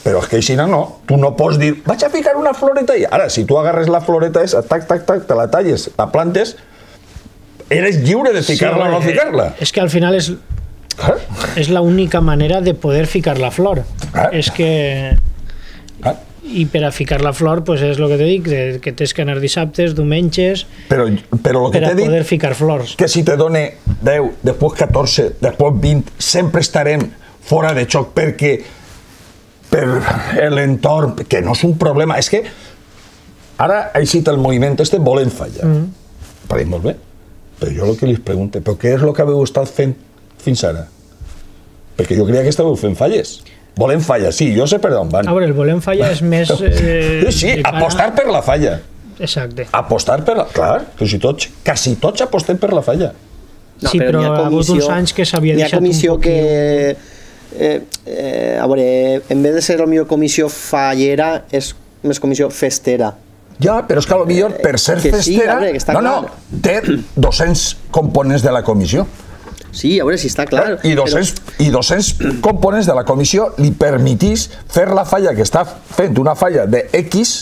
però és que aixina no, tu no pots dir, vaig a ficar una floreta ahí. Ara, si tu agarres la floreta esa, tac, tac, tac, te la talles, la plantes, eres lliure de ficar-la sí, o no ficar-la. És que al final és, ¿Ah? és la única manera de poder ficar la flor. ¿Ah? És que... ¿Ah? I per a ficar la flor, pues és el que te dic, que tens que anar dissabtes, diumenges, però, però lo que per a poder dit, ficar flors. Que si te done deu, després catorze, després vint, sempre estarem fora de xoc perquè per l'entorn, que no és un problema, és que ara ha eixit el moviment este, volen fallar. Mm. Pareix molt bé. Però jo el que li pregunto, però què és el que haveu estat fent fins ara? Perquè jo creia que estàveu fent falles. Volem falla, sí, jo sé per on van. A veure, el volem falla és més... Eh, sí, apostar per la falla. Exacte. Apostar per la... Clar, però si tots, quasi tots apostem per la falla. No, sí, però, però ha hagut uns anys que s'havia deixat un poc... Hi ha comissió que... Eh, eh, a veure, en vez de ser la millor comissió fallera, és més comissió festera. Ja, però és que potser per ser que festera... Sí, veure, no, no, té dos-cents components de la comissió. Sí, a veure si està clar. I dos-cents, però... i dos-cents components de la comissió li permetís fer la falla que està fent una falla de X,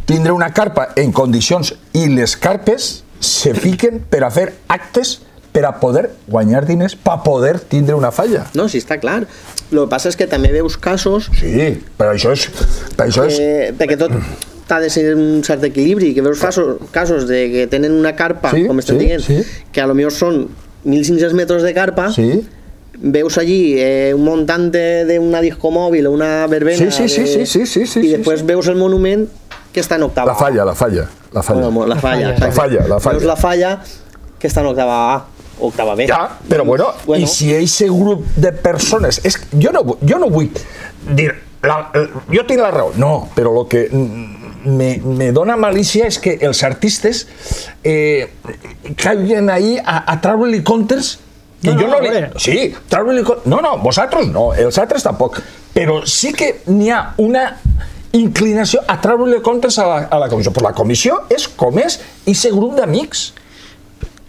tindre una carpa en condicions i les carpes se fiquen per a fer actes per a poder guanyar diners, per a poder tindre una falla. No, sí, està clar. El que passa és que també veus casos... Sí, però això és... Per això és... Eh, perquè tot ha de ser un cert equilibri, que veus casos, casos de que tenen una carpa, sí, com estem sí, dient, sí. que a lo millor són mil cinc-cents metres de carpa, sí. Veus allí eh, un montante d'una disco mòbil o una verbena, sí, sí, sí, de... sí, sí, sí, sí, i després sí, sí. veus el monument que està en octava A. La falla, la falla. La falla, bueno, la falla, la falla, la falla. Veus la falla que està en octava A, octava B. Ja, però bueno, bueno. I si aquest grup de persones... És, jo, no, jo no vull dir... La, jo tinc la raó, no, però el que... Me, me dona malícia és que els artistes eh, caiguen ahí a, a treure-li comptes que no, jo no, no li... Sí, treure-li comptes... No, no, vosaltres no, els altres tampoc. Però sí que n'hi ha una inclinació a treure-li comptes a la, a la comissió. Però la comissió és com és i aquest grup d'amics.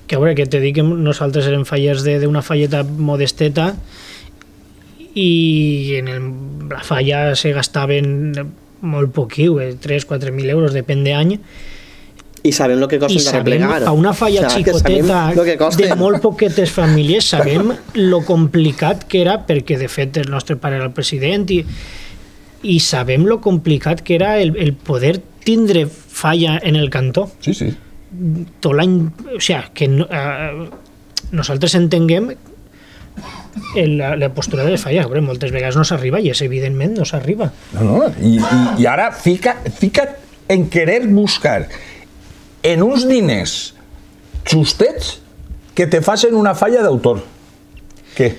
Que a veure, que te dic que nosaltres érem fallers d'una falleta modesteta i en el, la falla se gastaven molt poquiu, eh, tres o quatre mil euros, depèn d'any. I sabem el que costa de replegar. A una falla o sea, xicoteta de molt poquetes famílies sabem lo complicat que era, perquè de fet el nostre pare era el president i, i sabem lo complicat que era el, el poder tindre falla en el cantó. Sí, sí. Tot l'any, o sigui, que no, eh, nosaltres entenguem La, la postura de falla, veure, moltes vegades no s'arriba i és evidentment no s'arriba. No, no, i, i, i ara fica, fica't en querer buscar en uns diners justets que te facin una falla d'autor. Què?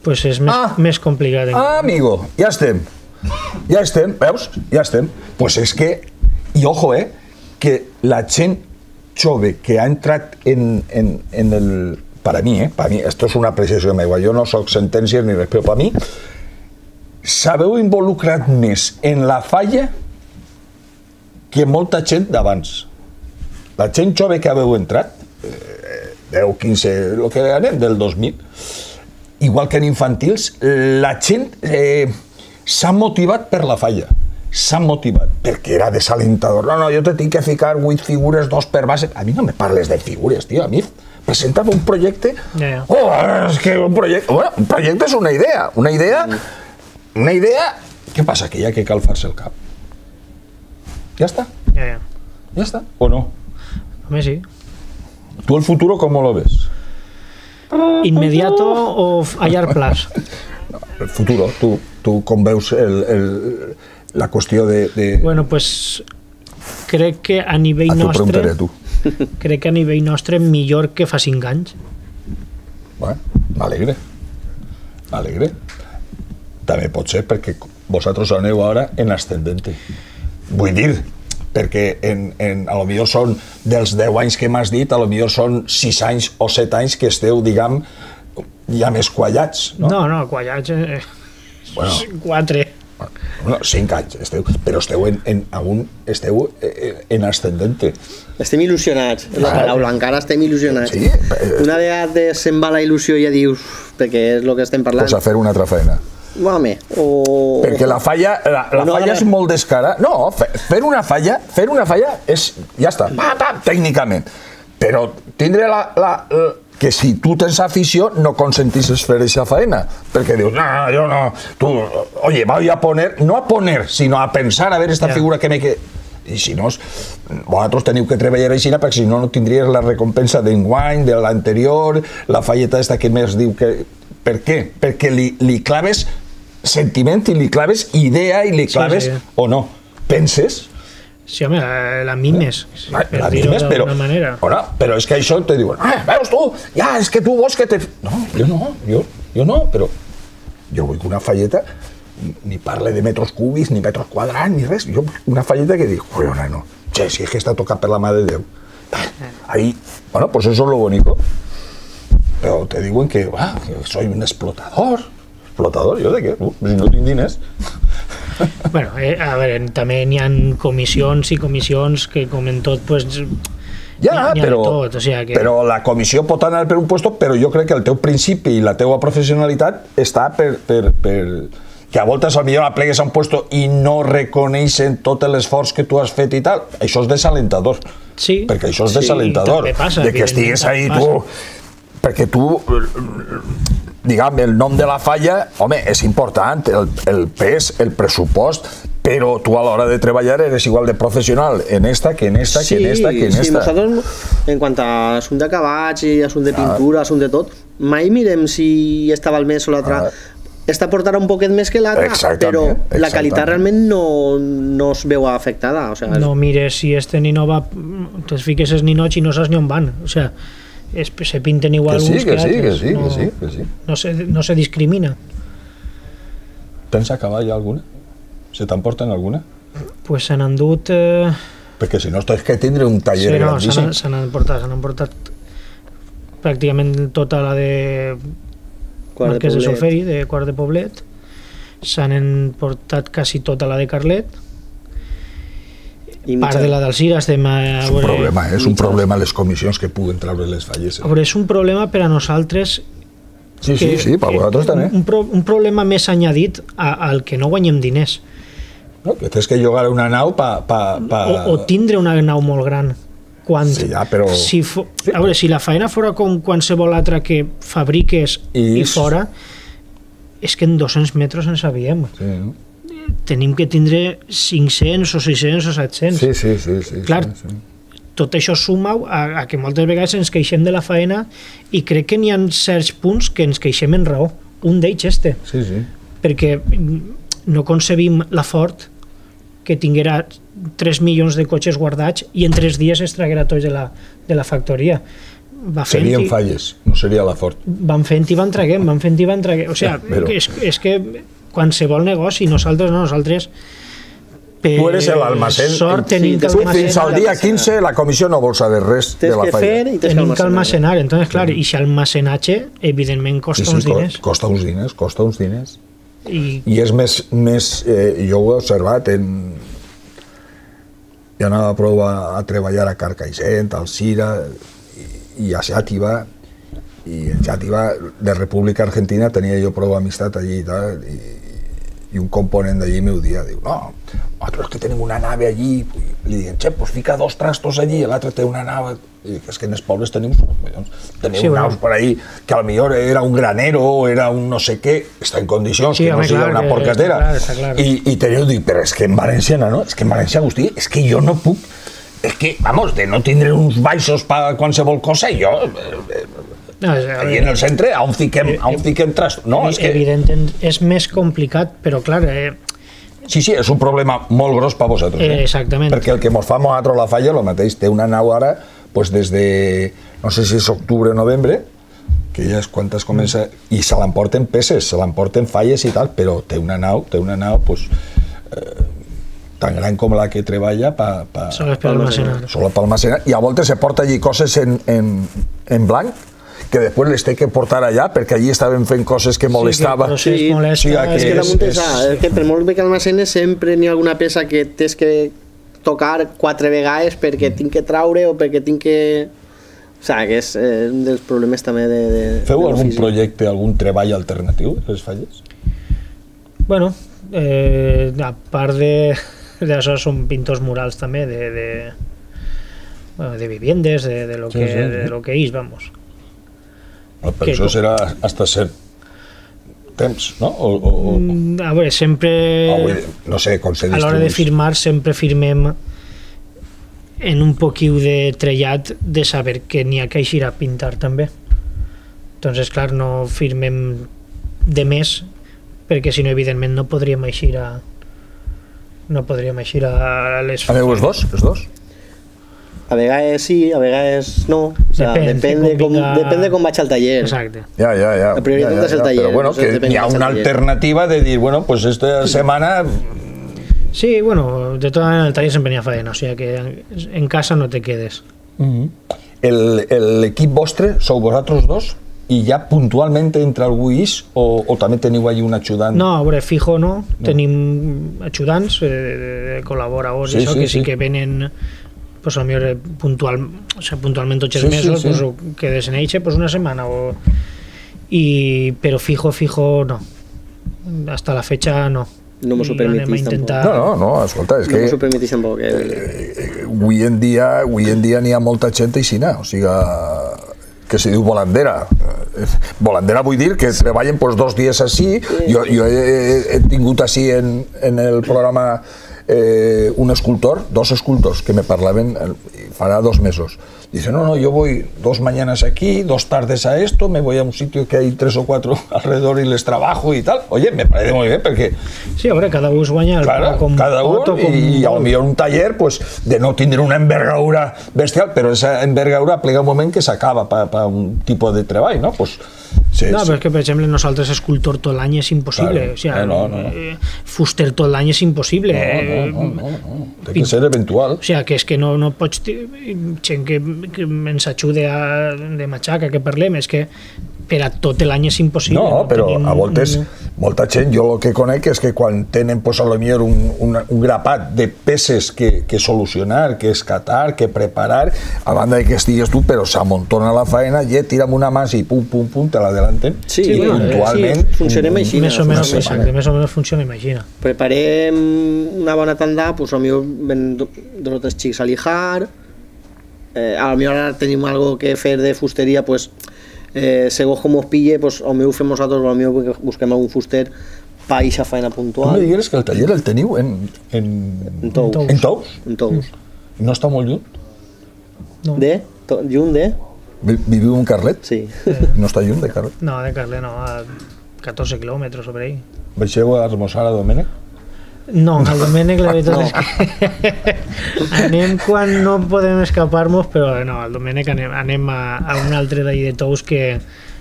pues és més, Ah. més complicat. Ah, amigo, ja estem. Ja estem, veus? Ja estem. Pues és que, i ojo, eh, que la gent jove que ha entrat en, en, en el... Para mí, eh, para mí, esto es una apreciació meva, jo no soc sentències ni res, però per mi s'haveu involucrat més en la falla que molta gent d'abans. La gent jove que haveu entrat, eh, deu, quinze, el que anem, del dos mil, igual que en infantils, la gent eh, s'ha motivat per la falla. S'ha motivat, perquè era desalentador. No, no, jo te tinc que ficar vuit figures, dos per base. A mi no me parles de figures, tio. A mi presentava un projecte... Yeah. Oh, és que un projecte... Bueno, un projecte és una idea. Una idea... Una idea... Què passa? Que hi ha que calfar-se el cap. Ja està. Ja, ja. Ja està. ¿O no? Home, sí. ¿Tú el futuro cómo lo ves? Inmediato o a llarg plaç? No, el futuro, tu, tu com veus el, el, la qüestió de... de... Bueno, pues crec que a nivell Ah, t'ho nostre... preguntaré, tu. Crec que a nivell nostre millor que fa cinc anys. Bueno, m'alegre. M'alegre. També pot ser perquè vosaltres aneu ara en ascendente. Vull dir, perquè en, en, a lo millor són dels deu anys que m'has dit, a lo millor són sis anys o set anys que esteu, diguem, ja més quallats, no? No, no, quallats... Eh, Bueno. Quatre. Bueno, cinc anys, esteu, però esteu en, en, algun, esteu en ascendente. Estem il·lusionats, és la paraula, encara estem il·lusionats. Sí, Una vegada se'n va la il·lusió i ja dius, perquè és el que estem parlant. Pues a fer una altra feina. Home, o... Perquè la falla, la, la no, falla ara- és molt descara. No, fe- fer una falla, fer una falla és, ja està, pa, pa, tècnicament. Però tindre la, la, la que si tu tens afició no consentisses fer aquesta feina, perquè dius, no, no, jo no, tu, oye, voy a poner, no a poner, sinó a pensar a ver esta Ja. figura que me que... I si no, vosaltres teniu que treballar així perquè si no no tindries la recompensa d'enguany, de l'anterior, la falleta esta que més diu que... Per què? Perquè li, li claves sentiment i li claves idea i li claves, Sí, sí. o no, penses? Sí, home, la, la mimes, La per dir-ho mimes, però, d'alguna manera. Bueno, però és que això te diuen, ah, veus tu, ja, és que tu vols que te... No, jo no, jo, jo no, però jo vull que una falleta ni parle de metros cúbics, ni metros quadrats, ni res. Jo una falleta que dic, joder, no, che, si es que està tocat per la mà de Déu. Ahí, bueno, pues eso es lo bonito. Però te diuen que, ah, que soy un explotador. Explotador, jo de què? Uh, si no tinc diners. Bueno, eh, a veure, també n'hi ha comissions i comissions que, com en tot, pues, Ja, n'hi ha- n'hi ha de però, tot, o sea que... però la comissió pot anar per un puesto, però jo crec que el teu principi i la teua professionalitat està per, per, per que a voltes potser aplegues a un puesto i no reconeixen tot l'esforç que tu has fet i tal. Això és desalentador. Sí, perquè això és sí, desalentador. també passa, de que estigues ahí evidentment, tu... Perquè tu, diguem, el nom de la falla, home, és important, el, el pes, el pressupost, però tu a l'hora de treballar eres igual de professional en esta que en esta, Sí, que en esta, que en sí, esta. nosaltres, en quant a assumpte d'acabats i assumpte de pintura, assumpte de tot, mai mirem si estava el més o l'altre. Ah. Esta portarà un poquet més que l'altra, Exactament, però la exactament. qualitat realment no, no es veu afectada. O sea, No mires si este nino va, te fiques es ninots i no saps ni on van. O sea, es, se pinten igual Que sí, uns que sí, que altres. sí, no, que sí, que sí. No se, no se discrimina. Tens acabar ja alguna? Se t'emporten alguna? Pues se n'han dut... Eh, Perquè si no, tens que tindre un taller sí, no, se grandíssim. n'han se n'han portat, se n'han portat pràcticament tota la de Quart de Marquès de Poblet. Solferi, de Quart de Poblet. S'han emportat quasi tota la de Carlet. i Part mitja- de la d'Alzira estem a És un veure... problema, eh? és un problema les comissions que puguen treure les falles. A veure, és un problema per a nosaltres. Sí, sí, sí, per vosaltres també. Un, pro, un problema més añadit a, al que no guanyem diners. No? Que tens que llogar una nau pa... pa, pa... O, o tindre una nau molt gran. Quan, Sí, ja, però- si, fo, a veure, si la feina fora com qualsevol altra que fabriques I i, fora, és que en dos-cents metres en sabíem. Sí, no? Tenim que tindre cinc-cents o sis-cents o set-cents. sí, sí, sí, sí, Clar, sí, sí. tot això suma a, a que moltes vegades ens queixem de la feina i crec que n'hi ha certs punts que ens queixem en raó. Un d'ells este, Sí, sí. perquè no concebim la Ford que tinguera tres milions de cotxes guardats i en tres dies es traguera tots de la, de la factoria. va fent Serien i, falles, no seria la Ford. van fent i van traguem, van fent i van traguem. O sigui, Però- és, és que qualsevol negoci, nosaltres no, nosaltres per Tu eres l'almacén. sort Sí, tenim que tu Tu fins al almacenar, dia quinze la comissió no vol saber res de Tens la que fer falla. i tens que tenim que almacenar. almacenar. Entonces, clar, i si almacenatge, evidentment, Sí, costa sí, uns co- diners. costa uns diners, costa uns diners. I, I és més, més eh, jo ho he observat, en... jo anava a provar a treballar a Carcaixent, al Cira, i, i a Xàtiva, i en Xàtiva, de República Argentina, tenia jo prou amistat allí i tal, i, i un component d'allí m'ho dia, diu, no, nosaltres que tenim una nave allí, i li diuen, che, pues fica dos trastos allí, l'altre té una nave, i dic, és que en els pobles tenim, teniu Sí, bueno. naus per ahí, que a lo millor era un granero, o era un no sé què, està en condicions, Sí, que no home, sigui clar, una que porcatera. està clar, està clar. I, i teniu, dic, però és que en Valenciana, no? És que en València, Agustí, és que jo no puc, és que, vamos, de no tindre uns baixos per qualsevol cosa, jo, eh, no, és, allí en el centre, on fiquem, on fiquem tras... No, és que... evident, és més complicat, però clar, eh, Sí, sí, és un problema molt gros per vosaltres. Eh? Eh, exactament. Perquè el que mos fa a nosaltres la falla, el mateix, té una nau ara, pues des de, no sé si és octubre o novembre, que ja és quan es comença, i se l'emporten peces, se l'emporten falles i tal, però té una nau, té una nau, pues, eh, tan gran com la que treballa pa, pa, sols per almacenar. solo per almacenar, i a voltes se porta allí coses en, en, en blanc, que després les té que portar allà, perquè allí estaven fent coses que molestava. Sí, que el procés Sí, molesta. sí, És que és- damunt és, és- és que per molt bé que almacenes sempre n'hi ha alguna peça que tens que tocar quatre vegades perquè tinc que traure o perquè tinc que... O sigui, que és eh, un dels problemes també de, de Feu de algun l'ofici. projecte, algun treball alternatiu a les falles? Bueno, eh, a part de d'això són pintors murals també de, de, bueno, de viviendes, de, de, lo Sí, que, sí, sí. de lo que és, vamos. No, però Que això com- serà hasta cert temps, no? O, o, o, Mm, A veure, sempre... o, vull dir, no sé, com se A l'hora de distribueix. firmar sempre firmem en un poquiu de trellat de saber que n'hi ha que eixir a pintar també. Entonces, clar, no firmem de més perquè si no, evidentment, no podríem eixir a no podríem eixir a les... Aneu els dos? Els dos? A vegades sí, a vegades no. O sea, Depèn, depèn, de com, convinga- depèn de com vaig al taller. Exacte. Ja, ja, ja. La prioritat ja, ja, és el ja. taller, Però bueno, això que depèn hi ha del una taller. alternativa de dir, bueno, pues esta setmana... Sí, bueno, de todas maneras en el taller sempre n'hi ha faena, o sigui que en casa no te quedes. El- el- L'equip vostre sou vosaltres dos i ja puntualment entra algú ix o, o també teniu allí un ajudant? No, a veure, fijo no, tenim ajudants, eh, de, de col·laboradors, Sí, i això, sí, que sí, sí. que venen pues, a millor puntual, o sea, puntualment tots els Sí, sí, mesos, sí. pues, o quedes en eixe pues, una setmana, o... I, però fijo, fijo no. Hasta la fecha no. No mos ho I anem a permetís, intentar... No, no, no, escolta, és No que m'ho permetís tampoc. Eh? eh, avui en dia avui en dia n'hi ha molta gent aixina, o sigui, que se diu volandera. Eh, Volandera vull dir que treballen pues, dos dies així. Jo, jo he, he, he tingut així en, en el programa eh, un escultor, dos escultors que me parlaven eh, farà dos mesos. Dice, no, no, yo voy dos mañanas aquí, dos tardes a esto, me voy a un sitio que hay tres o cuatro alrededor y les trabajo y tal. Oye, me parece muy bien porque, Sí, a veure, cada un es guanya el claro, pa com cada pot o uno com y a lo vol. mejor un taller, pues, de no tener una envergadura bestial, pero esa envergadura plega un moment que s'acaba para pa un tipo de treball, ¿no? Pues, sí, No, sí. però és que, per exemple, nosaltres escultor tot l'any és impossible. Claro. O sigui, No, no, no. eh, fuster tot l'any és impossible. No, no, no, no, no. Té que ser eventual. O sigui, que és que no, no pots... ti- Gent que, que ens ajude a, de matxaca, que parlem, és que per a tot l'any és impossible. No, però tenim a voltes, un- molta gent, jo el que conec és que quan tenen, pues, a lo millor un, un, un grapat de peces que, que solucionar, que escatar, que preparar, a banda de que estigues tu, però s'amontona la faena, i tira'm una mà i pum, pum, pum, te l'adelanten. Sí, I bueno, puntualment... sí, funcionem així. Més o una menys, setmana. exacte, més o menys funciona, imagina. Preparem una bona tanda, pues a lo millor ven do- dos o tres xics a lijar, eh, a lo millor ara tenim algo que fer de fusteria, pues eh, segons com us pille, pues a lo millor ho fem nosaltres, o a lo millor busquem algun fuster pa eixa faena Tu me puntual. digueres que el taller el teniu en... En, En Tous. En en Tous? En Tous. No està molt lluny? No, De? To- Lluny de? Vi- Viviu en Carlet? Sí. No està lluny de Carlet? no de Carle no, a catorze quilòmetres sobre ahí. Baixeu a esmorzar a Domènec? No, al Domènec la veritat no. és que anem quan no podem escapar-nos, però no, al Domènec anem, anem a, a un altre d'ahir de Tous que,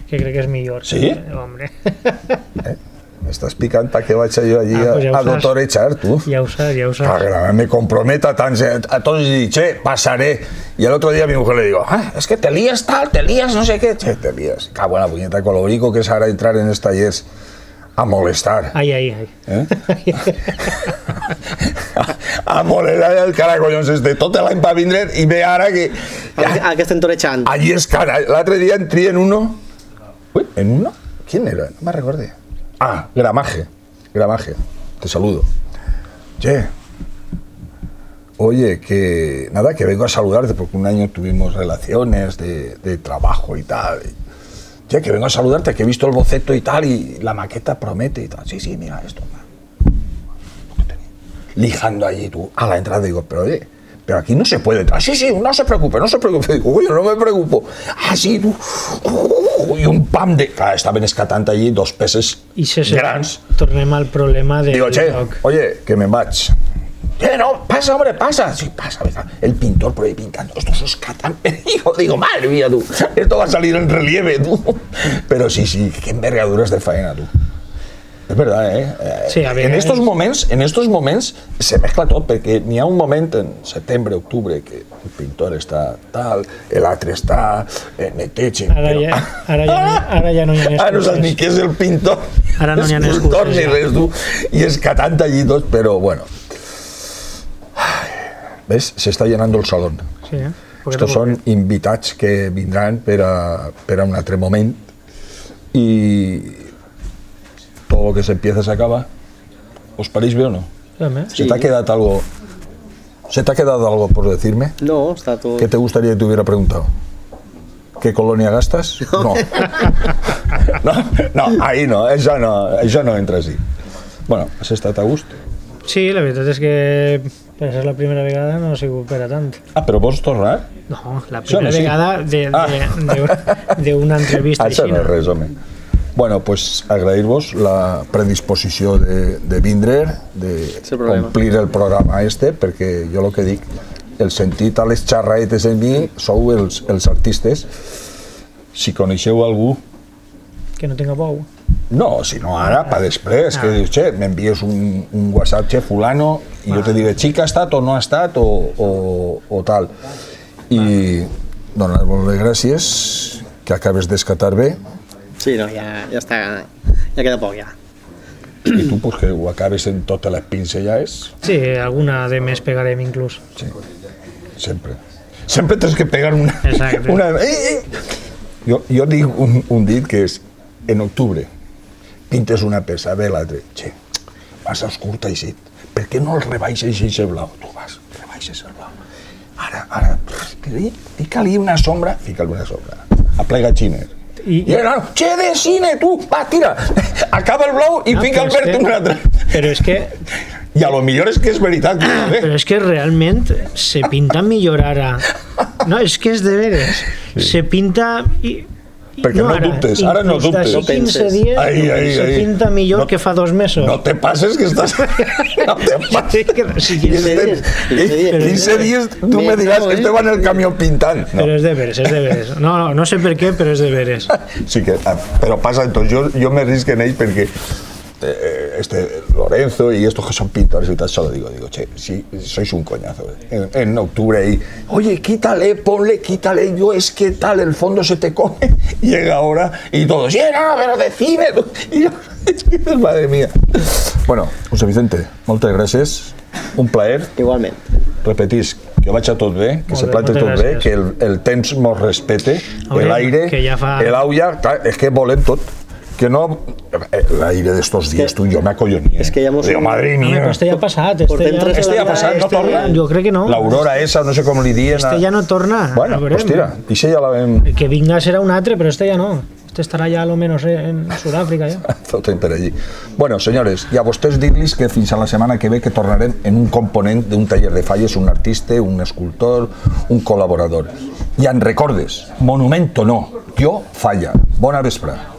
que crec que és millor. Sí? Eh, hombre. Eh? M'estàs picant perquè vaig jo allí ah, pues ja a, a doctorejar, tu. Ja ho saps, ja ho saps. Claro, me comprometo a, tan, a todos y digo, che, pasaré. Y el otro día a mi mujer le digo, ah, es que te lías tal, te lías no sé qué. Che, te lías. Cago en la puñeta, con lo rico que es ahora entrar en estos tallers a molestar. Ai, ai, ai. Eh? a, a molestar el caracollons este tot l'any per vindre i ve ara que... Ja, que estem torejant. Allí és cara. L'altre dia entré en uno... Uy, ¿en uno? ¿Quién era? No me recordé. Ah, Gramaje. Gramaje. Te saludo. Che. Oye, que... Nada, que vengo a saludarte porque un año tuvimos relaciones de, de trabajo y tal. Ya que vengo a saludarte, que he visto el boceto y tal, y la maqueta promete y tal. Sí, sí, mira esto. Lijando allí tú, a la entrada, digo, pero oye, pero aquí no se puede entrar. Sí, sí, no se preocupe, no se preocupe. Digo, oye, no me preocupo. Ah, sí, tú. Y un pam de... Claro, estaven escatant allí dos peces I se, se, grans. Tornem al problema de... Digo, che, oye, que me'n vaig. Eh, no, pasa, hombre, pasa. Sí, pasa, venga. El pintor por ahí pintando. Estos es catán. Digo, digo, madre mía, tú. Esto va a salir en relieve, tú. Pero sí, sí, qué envergaduras de faena, tú. Es verdad, eh? Sí, a ver, en estos es... moments, en estos moments se mezcla tot, perquè n'hi ha un moment en setembre, octubre, que el pintor està tal, l'altre està eh, neteja. Ara, però... ja, ara, ja no, ara ja no hi ha excuses. Ara no saps ni què és el pintor, ara no hi ha escultor, excuses, ni res, tu. I escatant allí tot, però bueno. ¿Ves? Se está llenando el salón. Sí, eh? Estos son invitats que vindran per a, per a un altre moment y todo lo que se empieza se acaba. ¿Os parece bien o no? Sí. ¿Se te ha quedado algo? ¿Se te ha quedado algo por decirme? No, está todo. ¿Qué te gustaría que te hubiera preguntado? ¿Qué colonia gastas? No. No, no, ahí no, eso no, eso no entra así. Bueno, has estat a gust? Sí, la veritat és que per ser la primera vegada no ha sigut per a tant. Ah, però vols tornar? No, la primera sí. vegada d'una ah. entrevista així. Això no és res, home. Bueno, pues agrair-vos la predisposició de, de vindre, de complir el programa este, perquè jo el que dic, el sentit a les xarraetes en mi sou els, els artistes. Si coneixeu algú... Que no tenga por. No, si no ara, pa després, ah. que dius, che, m'envies un, un WhatsApp, che, fulano, i ah. jo te diré, xic, ha estat o no ha estat, o, o, o tal. I donar-vos les gràcies, que acabes d'escatar bé. Sí, no, ja, ja està, ja queda poc, ja. I tu, pues, que ho acabes en totes les pinzellades? Sí, alguna de més pegarem, inclús. Sí, sempre. Sempre tens que pegar una... Exacte. Una... Jo, jo dic un, un dit que és, en octubre, pintes una peça, ve l'altre, che, vas a oscur teixit, per què no el rebaixes i blau? Tu vas, rebaixes el blau. Ara, ara, fica-li una sombra, fica-li una sombra, aplega xiner. I, I no, no, che de cine, tu, va, tira, acaba el blau i no, fica el verd en un altre. Però és que... I a lo millor és que és veritat. Ah, però és que realment se pinta millor ara. No, és que és de veres. Sí. Se pinta... I, perquè no, no dubtes, ara no dubtes. D'aquí quinze dies ai, ai, se ai. pinta millor no, que fa dos mesos. No te passes que estàs... No te passes. Sí, quinze dies. quinze dies tu me diràs que este va en el camió pintant. No. Però és de veres, és de veres. No, no, no sé per què, però és de veres. Sí que, però passa, entonces, jo, jo me risque en ell perquè este Lorenzo y estos que son pintores y tal, solo digo, digo, che, si sois un coñazo. En, en octubre ahí, oye, quítale, ponle, quítale, yo es que tal, el fondo se te come. Llega ahora y todos, sí, no, pero de cine. Y yo, es que, madre mía. Bueno, José Vicente, moltes gràcies, un plaer. Igualment. Repetís, que vaig a tot bé, que se plante tot bé, que el, el temps mos respete, l'aire, ja fa... l'aulla, és que volem tot. Que no, l'aire d'estos dies, tu, jo m'acollonía. És que ja mos... Digo, madre mía. Este ja ha passat. Este ja, este ja ha passat, no torna? Jo crec que no. L'aurora esa, no sé com li diuen. Este ja no torna. Bueno, pues tira, ixe ja la vam... El que vinga serà un altre, però este ja no. Este estarà ja a lo menos en Sud-àfrica, ja. Tot per allí. Bueno, senyores, i a vostès dir-los que fins a la setmana que ve que tornarem en un component d'un taller de falles, un artista, un escultor, un col·laborador. I en recordes, monumento no, jo falla. Bona vesprada.